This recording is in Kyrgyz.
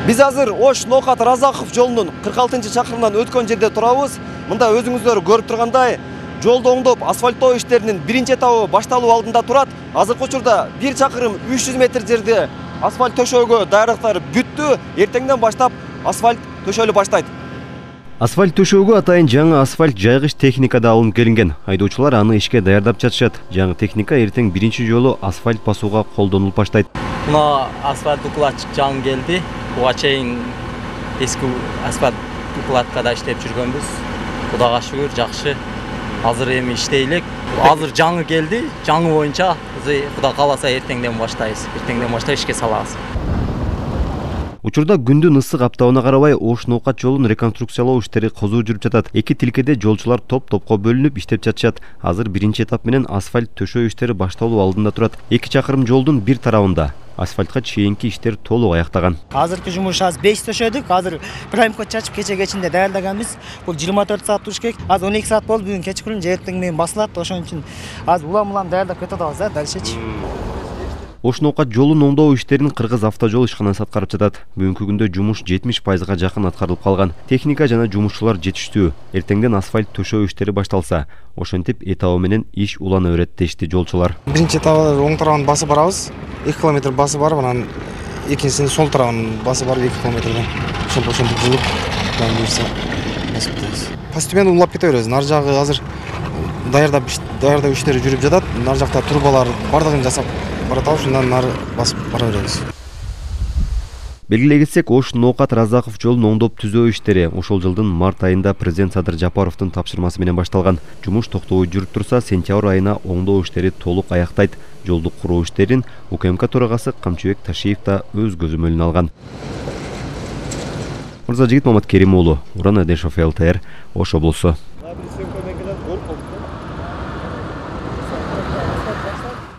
Биз азыр Ош Ноокат Разаков жолунун 46-чакырымынан өткөн жерде турабыз. Мында өзүңүздөр көрүп тургандай, жолду оңдоп асфальттоо иштеринин биринчи этабы башталуу алдында турат. Азыркы учурда 1 чакырым 300 метр жерде асфальт төшөөгө даярдыктар бүттү. Эртеңден баштап асфальт төшөлү баштайт. Асфальт төшөөгө атайын жаңы асфальт жайгыч техника да алынып келинген. Айдоочулар аны ишке даярдап жатышат. Жаңы техника эртең биринчи жолу асфальт басууга колдонулуп баштайт. Мына асфальт укладчик жаңы келди. Буга чейин эски асфальт укладкада иштеп жүргөнбүз. Кудайга шүгүр, жакшы. Азыр эми иштейлик. Азыр жаңы келди. Жаңы боюнча Кудай кааласа эртеңден баштайбыз. Эртеңден баштап ишке салабыз. Учурда күндүн ысык аптабына карабай Ош Ноокат жолун реконструкциялоо иштери козуу жүрүп жатат. Эки тилкеде жолчулар топ-топко бөлүнүп иштеп жатышат. Азыр биринчи этап менен асфальт төшөө иштери башталуу алдында турат. 2 чакырым жолдун бир тарабында асфальтка чейинки иштер толук аяктаган. Азыркы жумуш аз 5 төшөдүк. Азыр праймка чачып кече кечинде даярдаганбыз. Бул 24 саат туруш керек. Азыр 12 саат болду. Бүгүн кечкүрүн же эртең менен басылат. Ошон үчүн азыр улам даярдап кетип атабыз да, дальшечи. Ош Ноокат жолун оңдоо иштерин Кыргыз автожол ишканасы аткарып жатат. Бүгүнкү күндө жумуш 70%га жакын аткарылып калган. Техника жана жумушчулар жетиштүү. Эртеңден асфальт төшөө иштери башталса, ошентип этабы менен иш улана берет дешти жолчулар. Биринчи этабы оң тарабын басып барабыз. 2 километр басып барып, анан экинчисин сол тарабын басып барып 2 километрден ошентип жылып басып кетебиз. Постепенно улап кете беребиз. Нар жагы азыр даярдап иштери жүрүп жатат. Нар жакта трубалар бардыгын жасап баратабыз, ушундан нары басып бара беребиз. Белгилей кетсек, Ош Ноокат Разаков жолун оңдоп түзөө иштери ошол жылдын март айында президент Садыр Жапаровдун тапшырмасы менен башталган. Жумуш токтобой жүрүп турса, сентябрь айына оңдоо иштери толук аяктайт. Жолду куруу иштерин УКМК төрагасы Камчыбек Ташиев да өз көзөмөлүнө алган. Мырзажигит Маматкерим уулу, Уран Адешов, ЛТР, Ош облусу.